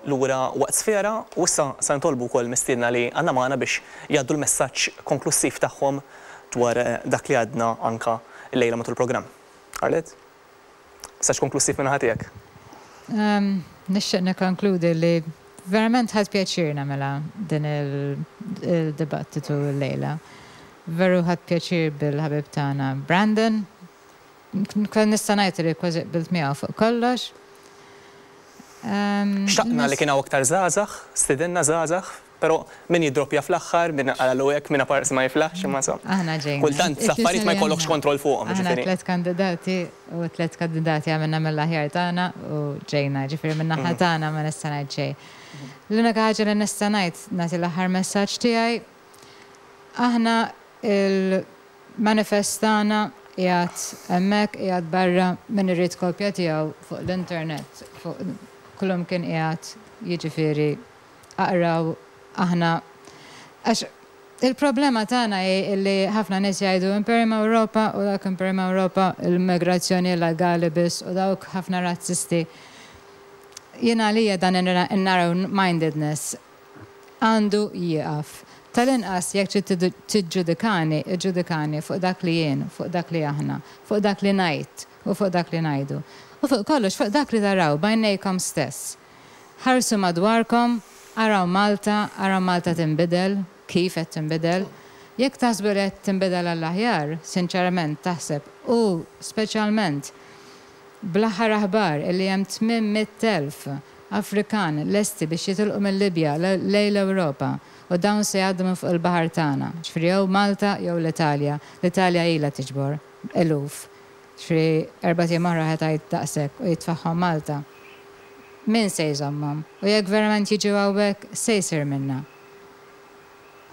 lura waqt Sfera u issa se nitolbu wkoll mistiedna li għandna magħna biex jgħaddu l-messaġġ konklussiv tagħhom dwar dak li għadna anka llejla matul il-programm. Arlette? Messaġġ konklussiv min-naħa tiegħek. Nixtieq nikkonkludi li verament ħadt pjaċir nagħmilha din il-dibattitu llejla. Veru ħadt pjaċir bil-ħabib tagħna Brandon. Kont nista' ngħid li kważi qbilt miegħu fuq kollox. Xtaqna li kien hawn aktar żgħażagħ, stidinna żgħażagħ, però min jiddroppja fl-aħħar, min qalalu hekk, min apparsi ma jiflaħx, imma insomma. Aħna ġejna. Kultant l-affarijiet ma jkollokx kontroll fuqhom, Aħna jiġifieri. tlett kandidati u tlett kandidati għamilna mill-aħjar tagħna u ġejna, jiġifieri min-naħa tagħna ma nista' ngħid xejn. L-unika ħaġa li nista' ngħid, nagħti l-aħħar messaġġ tiegħi, aħna il-manifest tagħna qiegħed hemmhekk, qiegħed barra, min irid kopja tiegħu fuq l-internet, fuq kullimkien qiegħed, jiġifieri aqraw aħna għax il-problema tagħna hi li ħafna nies jgħidu Imperium Ewropa u dak Imperium Ewropa l-immigrazzjoni illegali biss u dawk ħafna razzisti. Jien għalija dan in-narrow mindedness għandu jieqaf. Tal-inqas jekk trid tiġġudikani, iġġudikani fuq dak li jien, fuq dak li aħna, fuq dak li ngħid u fuq dak li ngħidu. U fuq kollox fuq dak li taraw b'għajnejkom stess. Ħarsu madwarkom, araw Malta, araw Malta tinbidel, kif qed tinbidel. Jekk taħsbu li qed tinbidel għall-aħjar, sinċerament taħseb u speċjalment bl-aħħar aħbar illi hemm 800,000 Afrikan lesti biex jitilqu mil-Libja lejn l-Ewropa u dawn se jgħaddu minn fuq il-baħar tagħna, ġifieri jew Malta jew l-Italja. L-Italja ilha tiġbor eluf. Ġifieri erbat ijiem oħra ħa tgħid daqshekk u jitfagħhom Malta. Min se jżommhom? U jekk verament jiġu hawnhekk, x'se jsir minna?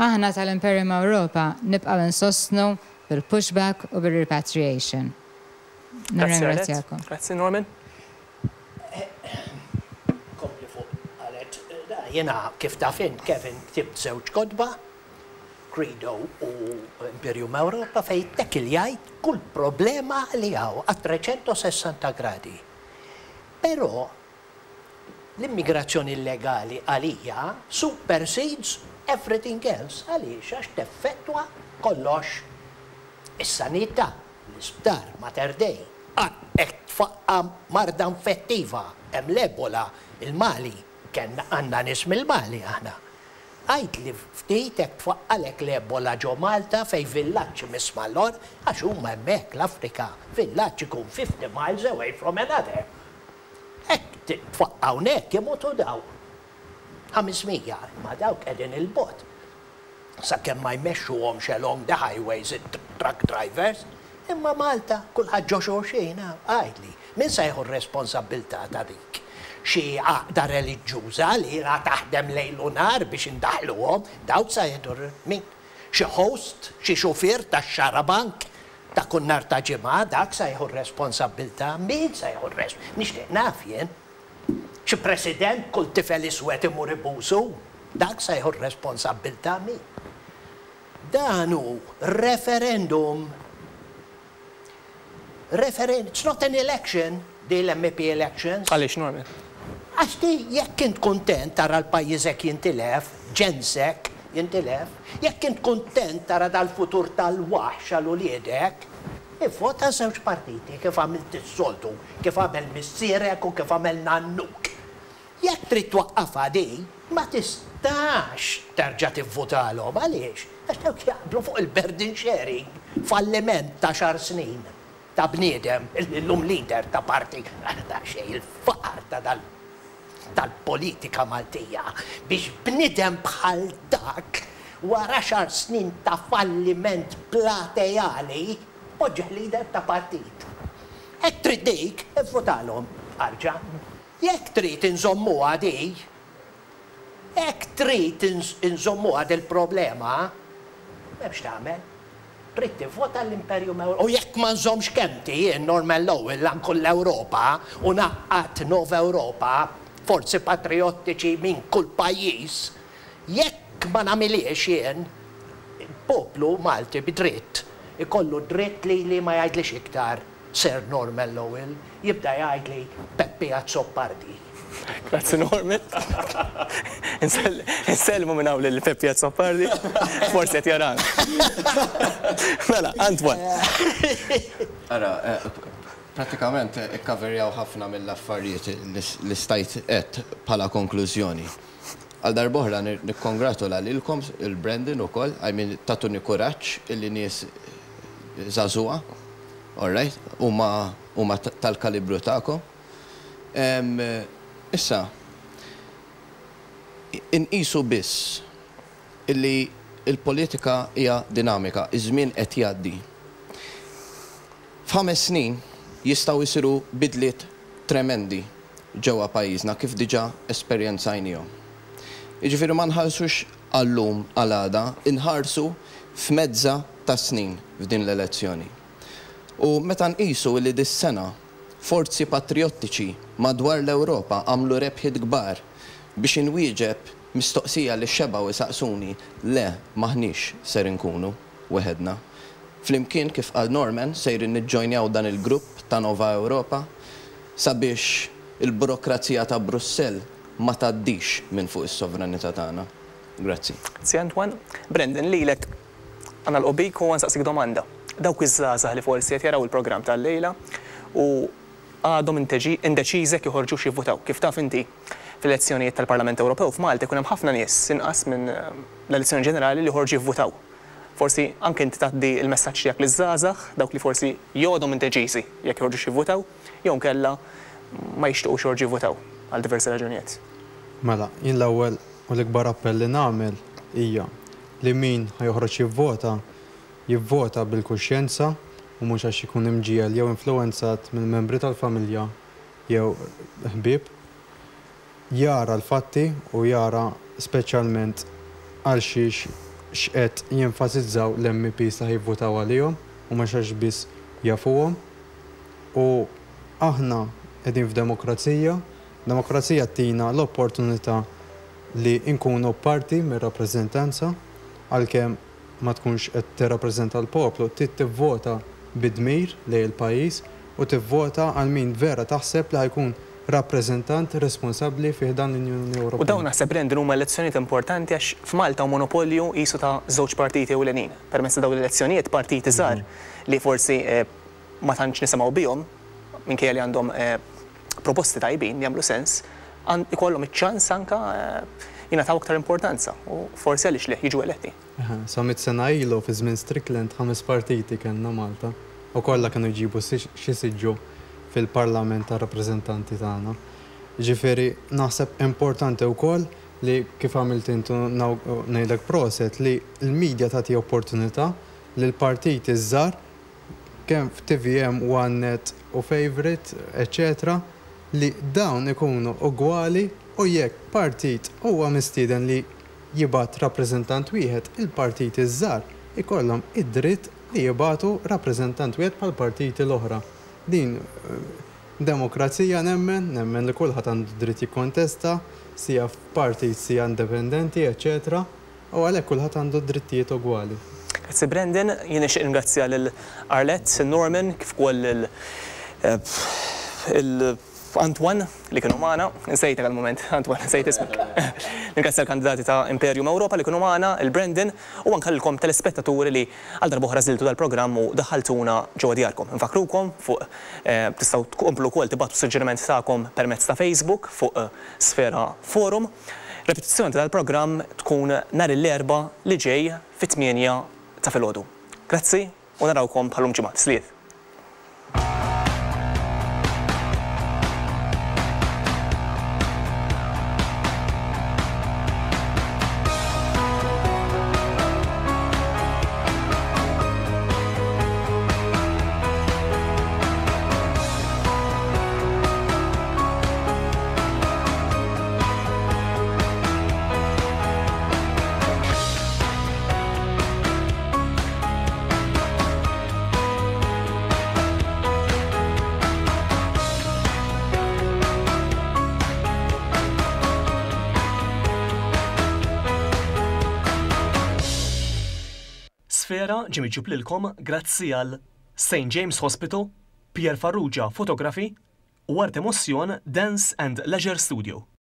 Aħna tal-Imperium Ewropa nibqgħu insostnu bil-pushback u bil-repatriation. Grazzi Arlette. Nirringrazzjakom. Grazzi Norman. Kompli fuq Arlette. Jiena kif taf int Kevin ktibt żewġ kotba, Credo u Imperium Europa fejn ittekiljajt kull problema li hawn a 360 gradi. Però l-immigrazzjoni illegali għalija supersedes everything else. Għaliex? Għax teffettwa kollox. Is-sanità, l-isptar, Mater Dei, qed tfaqqa' marda infettiva, hemm l-Ebola, il-Mali, kellna għandna nies mill-Mali aħna. Għidli ftit hekk tfaqqalek l-Ebola ġo Malta fejn villaġġ imiss mal-or, għax huma hemmhekk l-Afrika, villaġġ ikun 50 miles away from another. Hekk tfaqqa' hawnhekk imutu daw. 500, imma dawk qegħdin 'il bogħod. Sakemm ma jmexxuhomx along the highways it-truck drivers. Imma Malta, kulħadd ġo xulxin, għidli, min se jieħu r-responsabbiltà ta' dik? Xi għaqda reliġjuża li ilha taħdem lejl u nhar biex indaħħluhom, dawk se jieħdu min? Xi host, xi xufier tax-xarabank ta' kull nhar ta' Ġimgħa, dak se jieħu r-responsabbiltà? Min se jieħu r-res? Nixtieq naf jien. Xi president kull tifel iswed imur ibusu, dak se jieħu r-responsabbiltà? Min? Dan hu referendum. Referen it's not an election, di l-MEP elections. Għaliex, Norman? Għax di jekk int kuntent tara l-pajjiżek jintilef, ġensek jintilef, jekk int kuntent tara dal-futur tal-waħx għal uliedek, ivvota żewġ partiti kif għamilt is-soltu, kif għamel missierek u kif għamel nannuk. Jekk trid twaqqafha di, ma tistax terġa' tivvutalhom. Għaliex? Għax dawk jaqblu fuq il-burden sharing, falliment ta' għaxar snin ta' bniedem li llum leader ta' parti, ta' xejn, il-faqar ta' dal tal-politika Maltija biex bniedem bħal dak wara għaxar snin ta' falliment plateali poġġih leader ta' partit. Hekk trid dik, ivvutalhom, arġa'. Jekk trid inżommuha di, jekk trid inżommuha dil-problema, m'hemmx tagħmel. Trid tivvota l-Imperium Ewropew. U jekk ma nżommx kelmti jien, Norman Lowell, anku l-Ewropa, u ngħaqqad Nova Ewropa, forzi patrijottiċi minn kull pajjiż, jekk ma nagħmilhiex jien, il-poplu Malti bi dritt ikollu d-dritt lili ma jgħidlix iktar. Sir Norman Lowell, jibda jgħidli Peppi Azzopardi. Grazzi Norman. Insellmu minn hawn lil Peppi Azzopardi. Forsi qed jarana. Mela, Antoine. Ara, pratikament ikkaverjaw ħafna mill-affarijiet li stajt għedt bħala konklużjoni. Għal darb'oħra nikkongratula lilkom, il-Brandon ukoll, I mean tagħtuni kuraġġ illi nies żagħżugħa, all right, huma huma tal-kalibru tagħkom. Issa, inqisu biss illi l-politika hija dinamika, iż-żmien qed jgħaddi. F'ħames snin jistgħu jsiru bidliet tremendi ġewwa pajjiżna kif diġà esperjenzajniehom. Jiġifieri ma nħarsux għal-lum għal għada, inħarsu f'mezza ta' snin f'din l-elezzjoni. U meta nqisu illi dis-sena forzi patrijottiċi madwar l-Ewropa għamlu rebħiet kbar biex inwieġeb mistoqsija li xebgħu jsaqsuni, le m'aħniex ser inkunu weħedna. Flimkien, kif qal Norman, sejrin niġġojnjaw dan il-grupp ta' Nova Europa sabiex il-burokrazija ta' Brussell ma tgħaddix minn fuq is-sovranità tagħna. Grazzi. Grazzi Antoine. Brendan, lilek ħa nagħlqu bik u ħa nsaqsik domanda. Dawk iż-żgħażagħ li forsi qed jaraw il-programm tal-lejla u għadhom indeċiżi jekk joħorġux jivvutaw. Kif taf inti, fl-elezzjonijiet tal-Parlament Ewropew f'Malta jkun hemm ħafna nies inqas minn l-elezzjoni ġenerali li joħorġu jivvutaw. Forsi anke inti tgħaddi l-messaġġ tiegħek liż-żgħażagħ, dawk li forsi jgħodhom indeċiżi jekk joħorġux jivvutaw, jew inkella ma jixtiequx joħorġu jivvutaw għal diversi raġunijiet. Mela, jien l-ewwel u l-ikbar appell li nagħmel hija li min ħa joħroġ jivvota, jivvota bil-kuxjenza u mhux għax ikun imġiegħel jew influwenzat mill-membri tal-familja jew ħbieb. Jara l-fatti u jara speċjalment għal xiex x'qed jenfasizzaw l-MEPs li ħa jivvutaw għalihom u mhux għax biss jafuhom. U aħna qegħdin f'demokrazija, demokrazija ttina l-opportunità li nkunu parti mir-rappreżentanza għalkemm ma tkunx qed tirrappreżenta l-poplu, trid tivvota bi dmir lejn il-pajjiż u tivvota għal min vera taħseb li ħa jkun rappreżentant responsabbli fi ħdan l-Unjoni U Ewropea. dawn naħseb Brandon huma elezzjonijiet importanti għax f'Malta hawn monopolju qisu ta' żewġ partiti ewlenin. Permezz ta' dawn l-elezzjonijiet partiti żgħar li forsi ma tantx nisimgħu bihom minkejja li għandhom proposti tajbin li jagħmlu sens, ikollhom iċ-ċans anke jingħataw aktar importanza u forsi għaliex le jiġu eletti. Eħe, sa mitt sena ilu fi żmien Strickland ħames partiti kellna Malta u kollha kienu jġibu xi siġġu fil-Parlament tar-Rappreżentanti tagħna. Jiġifieri naħseb importanti wkoll li kif għamilt int u ngħidlek proset li l-media tagħti opportunità lill-partiti ż-żgħar kemm f'TVM, One Net u Favourite eċċetera li dawn ikunu ugwali u jekk partit huwa mistieden li jibgħat rappreżentant wieħed, il-partiti ż-żgħar ikollhom id-dritt li jibagħtu rappreżentant wieħed bħall-partiti l-oħra. Din demokrazija nemmen, nemmen li kulħadd għandu dritt jikkontesta, sija f'partit sija indipendenti eċċetera u għalhekk kulħadd għandu drittijiet ugwali. Grazzi Brandon, jien nixtieq ningrazzja lil Arlette, Norman, kif ukoll lil Antoine li kienu magħna, insejtek għall-mument, Antoine, nsejt ismek. Ningrazzja l-kandidati ta' Imperium Europa li kienu magħna, il Brandon, u anke lilkom telespettaturi li għal darb'oħra żiltu dal-programm u daħħaltuna ġewwa djarkom. Infakkrukom fuq tistgħu tkomplu wkoll tibagħtu s-suġġerimenti tagħkom permezz ta' Facebook fuq Sfera Forum. Repetizzjoni ta' dal-programm tkun nhar l-Erbgħa li ġej fit-tmienja ta' filgħodu. Grazzi u narawkom bħal-lum ġimgħa. Sliet. Sfera ġie miġjub lilkom grazzi għal St James Hospital, Pierre Farrugia Photography u Art Emotion Dance and Leisure Studio.